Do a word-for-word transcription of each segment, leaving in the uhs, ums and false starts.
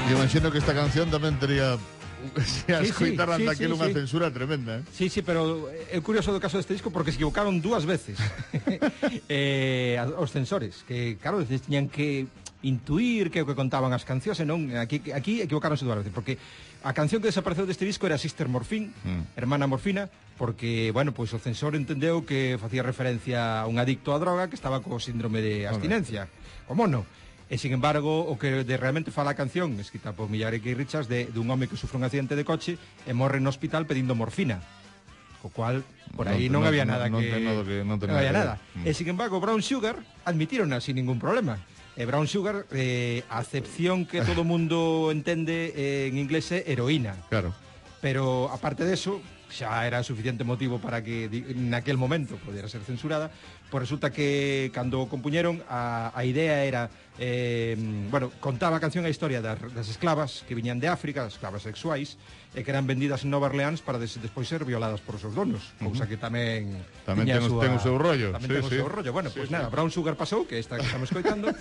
E imagino que esta canción tamén tería... Se a Sí, escoitaran sí, sí, daquela sí, unha sí. censura tremenda, eh? Sí, sí, pero é curioso do caso deste disco porque se equivocaron dúas veces eh, os censores, que claro, eles tiñan que intuir que o que contaban as cancións e non, aquí, aquí equivocaronse dúas veces, porque a canción que desapareceu deste disco era Sister Morphine, mm. Hermana Morfina, porque, bueno, pois pues, o censor entendeu que facía referencia a un adicto á droga que estaba co síndrome de abstinencia, o mono. E, sin embargo, o que de realmente fala a canción, escrita por Millare Kay Richards, de, de un home que sufre un accidente de coche e morre no hospital pedindo morfina. Co cual, por aí non, non, non había nada non, que... Non, que, non, non había nada. Mm. E, sin embargo, Brown Sugar admitírona sin ningún problema. E Brown Sugar, eh, a acepción que todo mundo entende eh, en inglés é heroína. Claro. Pero, aparte de eso, xa era suficiente motivo para que naquel momento podera ser censurada, pois resulta que cando compuñeron a, a idea era eh, bueno, contaba a canción a historia das, das esclavas que viñan de África, as esclavas sexuais, e que eran vendidas en Nova Orleans para des, despois ser violadas por os seus donos, uh -huh. cousa que tamén tamén ten, súa, ten o seu rollo. Tamén sí, ten o sí. seu rollo. Bueno, sí, pois pues sí. nada, Brown Sugar pasou, que esta que estamos escoitando,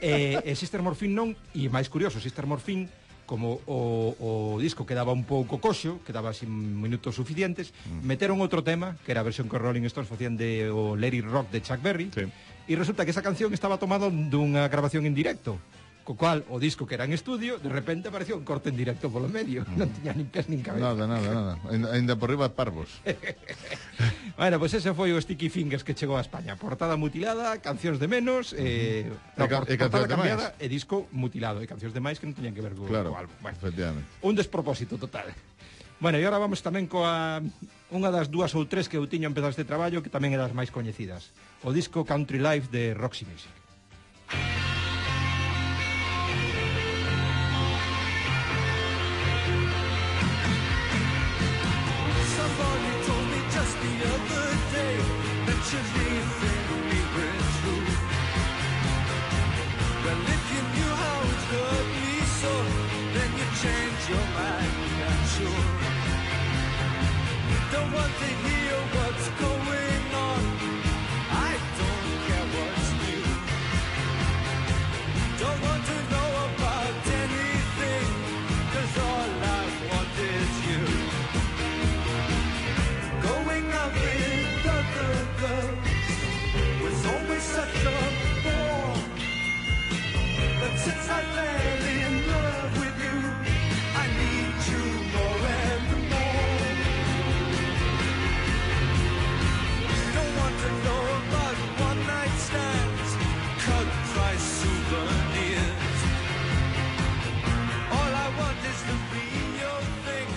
e, e Sister Morphine non, e máis curioso, Sister Morphine como o, o disco quedaba un pouco coxo, quedaba sin minutos suficientes, mm. meteron outro tema, que era a versión que Rolling Stones facían de o Let It Rock de Chuck Berry, sí. E resulta que esa canción estaba tomada dunha grabación en directo, co cual o disco que era en estudio, de repente apareció un corte en directo polo medio, mm. non tiña nin pés nin cabeza. Nada, nada, nada, ainda por riba parvos. Bueno, pois pues ese foi o Sticky Fingers que chegou a España. Portada mutilada, cancións de menos, eh, no, por, e portada cambiada e disco mutilado. E cancións de máis que non teñan que ver co, claro, co álbum. Bueno, efectivamente. Un despropósito total. Bueno, e agora vamos tamén coa unha das dúas ou tres que eu tiño empezado este traballo, que tamén é das máis coñecidas. O disco Country Life de Roxy Music.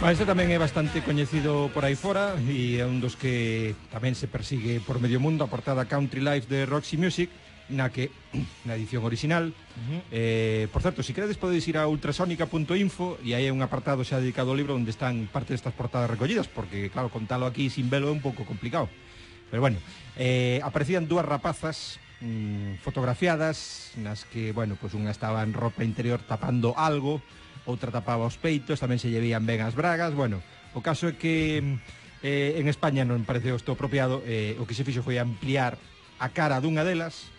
Este tamén é bastante coñecido por aí fora e é un dos que tamén se persigue por medio mundo, a portada Country Life de Roxy Music, na que, na edición original, uh-huh. eh, por certo, se si queredes podedes ir a ultrasonica punto info e aí hai un apartado xa dedicado ao libro onde están parte destas portadas recollidas, porque, claro, contalo aquí sin velo é un pouco complicado. Pero bueno, eh, aparecían dúas rapazas mmm, fotografiadas, nas que, bueno, pues unha estaba en ropa interior tapando algo, outra tapaba os peitos, tamén se lle veían ben as bragas. Bueno, o caso é que eh, en España non pareceu isto apropiado, eh, o que se fixo foi ampliar a cara dunha delas,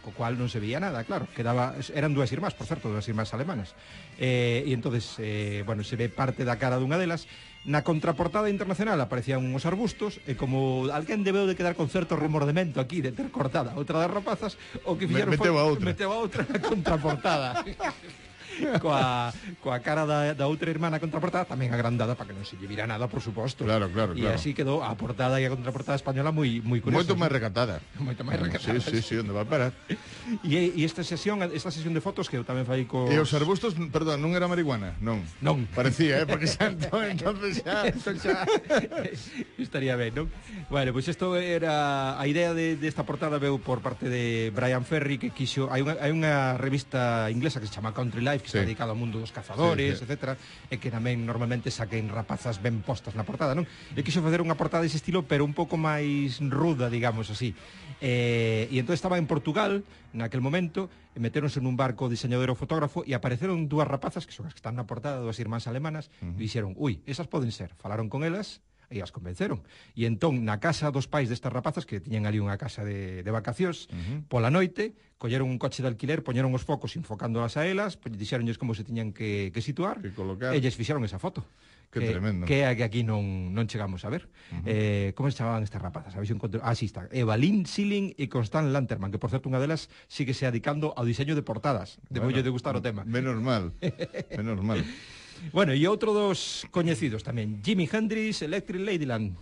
co cual non se veía nada, claro, quedaba, eran dúas irmás, por certo, dúas irmás alemanas, eh, e entonces, eh, bueno, se ve parte da cara dunha delas. Na contraportada internacional aparecían uns arbustos, e como alguén debeu de quedar con certo remordemento aquí de ter cortada outra das rapazas, o que fixeron foi meteu a outra na contraportada. coa, coa cara da, da outra irmá na contraportada tamén agrandada para que non se lle vira nada, por suposto. Claro, claro, e claro. así quedou a portada e a contraportada española moi moi curiosa. Moito máis recatada. Moito máis recatada. Sí, sí, sí, onde va a parar. E, e esta sesión, esta sesión de fotos que eu tamén fai co... E os arbustos, perdón, non era marihuana? Non. Non. Parecía, eh, porque xa entonces xa entón xa estaría ben, non? Bueno, pois pues isto era a idea de desta de portada veu por parte de Brian Ferry, que quixo, hai unha hai unha revista inglesa que se chama Country Life, que sí. está dedicada ao mundo dos cazadores, sí, sí. etcétera, e que tamén normalmente saquen rapazas ben postas na portada, non? E quixo facer unha portada dese estilo, pero un pouco máis ruda, digamos así. Eh, e entón estaba en Portugal naquel momento, e meteronse nun barco diseñador e fotógrafo e apareceron dúas rapazas que son as que están na portada, dúas irmás alemanas, uh -huh. e dixeron, ui, esas poden ser. Falaron con elas, e as convenceron. E entón, na casa dos pais destas rapazas, que tiñan ali unha casa de, de vacacións, uh-huh. pola noite, colleron un coche de alquiler, poñeron os focos enfocándolas a elas, dixeronlles como se tiñan que, que situar, que colocar. E lles fixeron esa foto. Que, que tremendo. Que é a que aquí non, non chegamos a ver. Uh-huh. eh, como se chamaban estas rapazas? A ver se encontro... Ah, sí está. Evalín Siling e Constant Lanterman, que por certo unha delas sigue se adicando ao diseño de portadas. De bueno, de gustar o tema. Menos mal. Menos mal. Bueno, e outro dos coñecidos tamén, Jimi Hendrix, Electric Ladyland.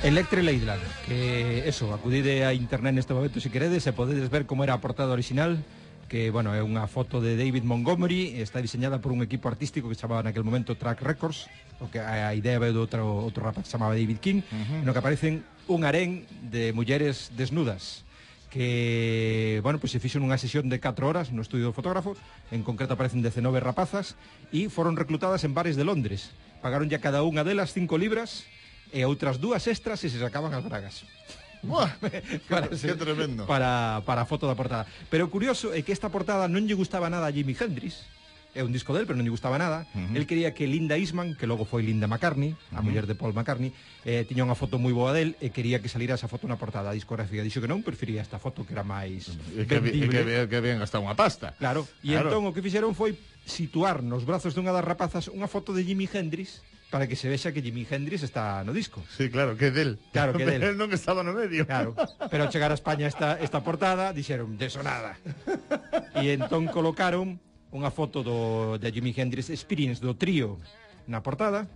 Electric Ladyland, que eso, acudide a internet neste momento se queredes e podedes ver como era a portada original, que, bueno, é unha foto de David Montgomery, está diseñada por un equipo artístico que se chamaba naquele momento Track Records, o que a idea ve do outro, outro rapaz que se chamaba David King, uh-huh. no que aparecen un harén de mulleres desnudas, que, bueno, pues se fixo nunha sesión de catro horas no estudio do fotógrafo, en concreto aparecen dezenove rapazas, e foron reclutadas en bares de Londres. Pagaron ya cada unha delas cinco libras, e outras dúas extras e se sacaban as bragas. Buah, para, que tremendo. Para, para a foto da portada. Pero o curioso é que esta portada non lle gustaba nada a Jimi Hendrix. É un disco del, pero non lle gustaba nada. Uh-huh. El quería que Linda Eastman, que logo foi Linda McCartney, a uh-huh. muller de Paul McCartney, eh, tiña unha foto moi boa del e quería que salira esa foto na portada. A discográfica dixo que non, prefería esta foto que era máis e que, e que, que, que habían gastado unha pasta. Claro, e claro. entón o que fixeron foi situar nos brazos dunha das rapazas unha foto de Jimi Hendrix para que se vexa que Jimi Hendrix está no disco. Sí, claro, que del. Claro, que del. Pero non estaba no medio. Claro, pero ao chegar a España esta, esta portada, dixeron, deso nada. E entón colocaron unha foto do, de Jimi Hendrix Experience do trío na portada,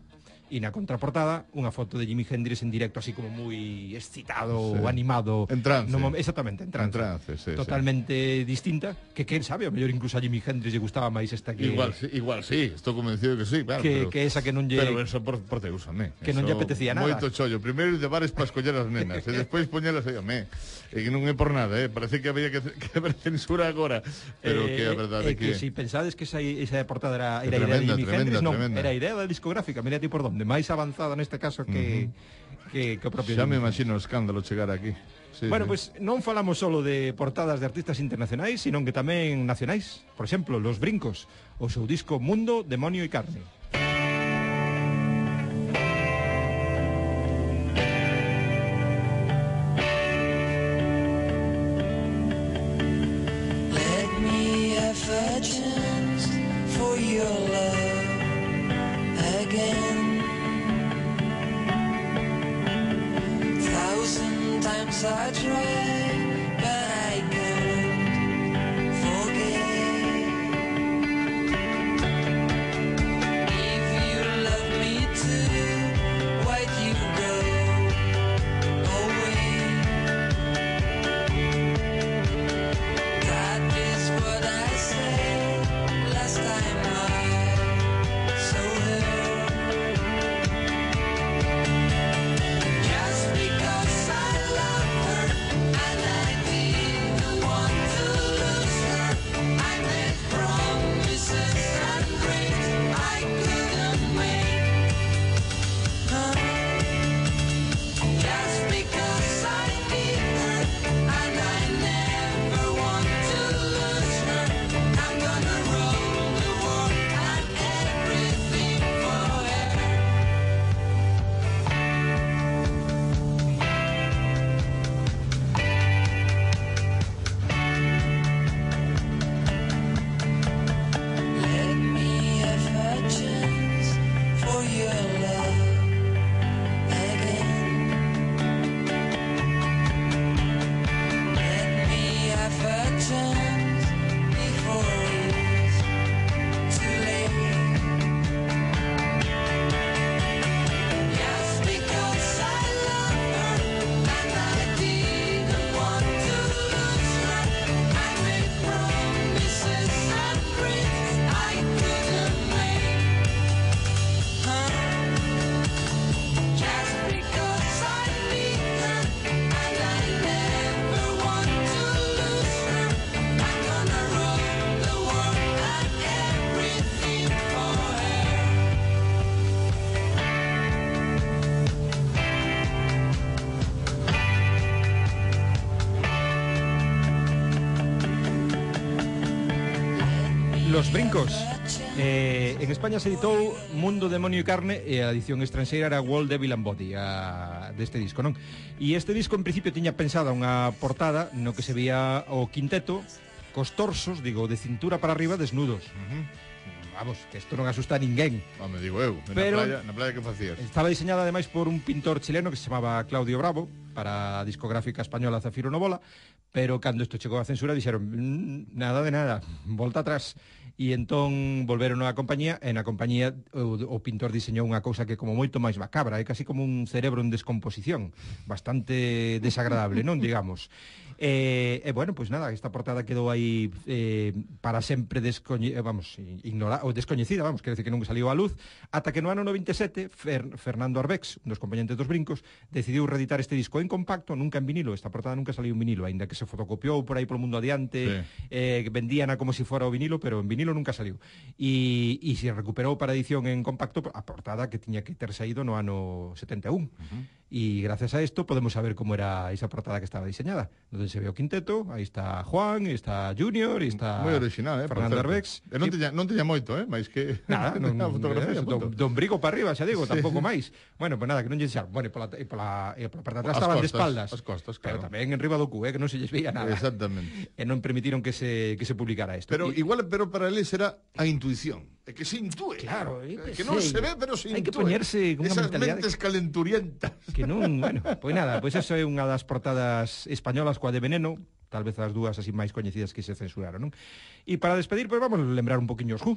e na contraportada unha foto de Jimi Hendrix en directo, así como moi excitado, sí. animado. En trance. No, exactamente, en trance. En trance, sí, totalmente sí. distinta, que quen sabe, a mellor incluso a Jimi Hendrix lle gustaba máis esta que... Igual sí, igual sí, estou convencido que sí, claro. Que, pero, que esa que non lle... Pero eso por, por Deus, amé. Que non lle apetecía nada. Moito chollo. Primeiro de bares para escoller as nenas, e despois poñelas aí, amé. E que non é por nada, eh? Parece que había que, que haber censura agora, pero eh, que a verdade é que... que... que si pensades que esa, esa portada era, era tremenda, idea de Jimi tremenda, Hendrix, non, tremenda. era idea da discográfica, mira ti por donde, máis avanzada neste caso que, uh-huh. que, que o propio... Xa me imagino o escándalo chegar aquí. Sí, bueno, sí. Pues non falamos solo de portadas de artistas internacionais, sino que tamén nacionais. Por exemplo, Los Brincos, o seu disco Mundo, Demonio e Carne. Let me have a chance for your love again. Thousand times I tried, but I couldn't forget. If you love me too, why'd you go away? That is what I said last time I saw her. Just because I love her, I Dos Brincos. Eh, en España se editou Mundo, Demonio e Carne e a edición estranxeira era World, Devil and Body a, deste disco, non? E este disco en principio tiña pensada unha portada no que se veía o quinteto cos torsos, digo, de cintura para arriba desnudos. Uh-huh. Vamos, que isto non asusta a ninguén. Home, digo eu, Pero na playa, na playa que facías? Estaba diseñada ademais por un pintor chileno que se chamaba Claudio Bravo para a discográfica española Zafiro Novola, pero cando isto chegou a censura dixeron mmm, nada de nada, volta atrás. E entón volveron á compañía e na compañía o, o pintor diseñou unha cousa que como moito máis macabra, é casi como un cerebro en descomposición, bastante desagradable, non, digamos. E, e bueno, pois pues nada, esta portada quedou aí eh, para sempre descoñe vamos, ignora ou descoñecida, vamos, quer decir que non saliu á luz, ata que no ano noventa e sete Fer Fernando Arbex, un dos componentes dos Brincos, decidiu reeditar este disco en compacto, nunca en vinilo. Esta portada nunca saliu en vinilo, aínda que se fotocopiou por aí polo mundo adiante, sí. eh, vendíana como se si fora o vinilo, pero en vinilo nunca saliu. E, e se recuperou para edición en compacto a portada que tiña que ter saído no ano setenta e un. Uh-huh. E gracias a isto podemos saber como era esa portada que estaba diseñada, donde se ve o quinteto, aí está Juan, está Junior, e está moi original, eh, Fernando Arbex. E non tiña, non tiña moito, eh, máis que nada, non, a fotografía, eh, don, don Brigo para arriba, xa digo, sí. Tampouco máis. Bueno, pues nada, que non lle dixar, bueno, e pola, e pola, e pola parte de atrás as estaban costas, de espaldas, as costas, pero claro. tamén en riba do cu, eh, que non se lles veía nada. Exactamente. E non permitiron que se que se publicara isto. Pero y, igual, pero para eles era a intuición, é que se intúe. Claro, eh, que non se ve, pero se intúe. Hai que poñerse con unha esas mentalidade mentes calenturientas. Que non, bueno, pois pues nada, pois pues eso é unha das portadas españolas coa de Veneno, tal vez as dúas así máis coñecidas que se censuraron, non? E para despedir, pois pues vamos a lembrar un poquinho os Who.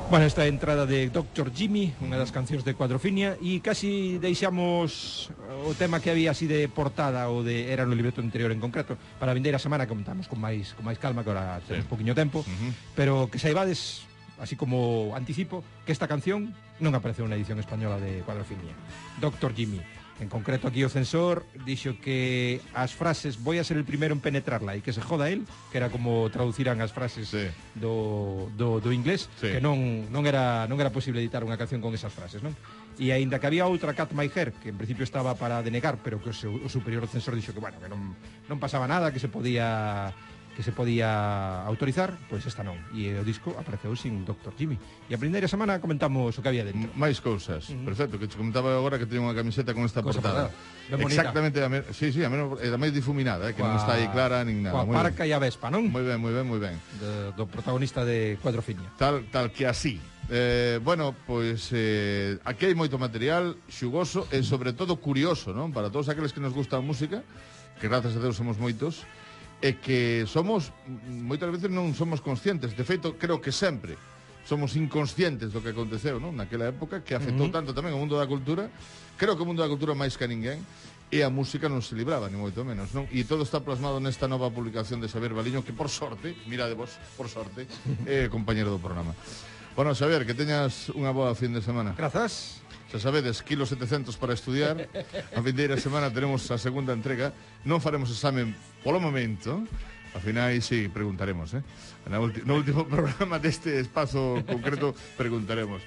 Bueno, esta entrada de doctor Jimmy, unha das cancións de Cuadrofinia, e casi deixamos o tema que había así de portada ou de era no libreto anterior en concreto para a vindeira semana, que contamos con máis con máis calma, que ahora temos sí. poquinho tempo, uh-huh. pero que saibades, así como anticipo, que esta canción non apareceu na edición española de Cuadrofinia. doctor Jimmy. En concreto aquí o censor dixo que as frases "voy a ser el primero en penetrarla" e que se joda él, que era como traduciran as frases sí. do, do, do inglés, sí. que non, non, era, non era posible editar unha canción con esas frases, non? E aínda que había outra, Cat My Hair, que en principio estaba para denegar, pero que o, seu, o superior censor dixo que, bueno, que non, non pasaba nada, que se podía que se podía autorizar, pois esta non. E o disco apareceu sin doctor Jimmy. E a primeira semana comentamos o que había dentro. Máis cousas. Uh-huh. Perfecto, que te comentaba agora que teño unha camiseta con esta Cosa portada. Ben exactamente, a me, sí, sí, a menos é máis difuminada, eh, que Coa, non está aí clara nin nada. Coa parca e a Vespa, non? Moi ben, moi ben, moi ben. De, do protagonista de Cuadrofinia. Tal, tal que así. Eh, bueno, pois eh, aquí hai moito material xugoso e sobre todo curioso, non? Para todos aqueles que nos gusta a música, que gracias a Deus somos moitos, e que somos, moitas veces non somos conscientes, de feito, creo que sempre somos inconscientes do que aconteceu, non? Naquela época, que afectou uh-huh. tanto tamén o mundo da cultura, creo que o mundo da cultura máis que a ninguén, e a música non se libraba, ni moito menos, non? E todo está plasmado nesta nova publicación de Xavier Baliño, que por sorte, mira de vos, por sorte, é compañero do programa. Bueno, Xavier, que teñas unha boa fin de semana. Grazas. Xa sabedes, kilo setecentos para estudiar. A vindeira semana teremos a segunda entrega. Non faremos examen polo momento. Ao final, sí, preguntaremos, eh? No último programa deste espazo concreto preguntaremos.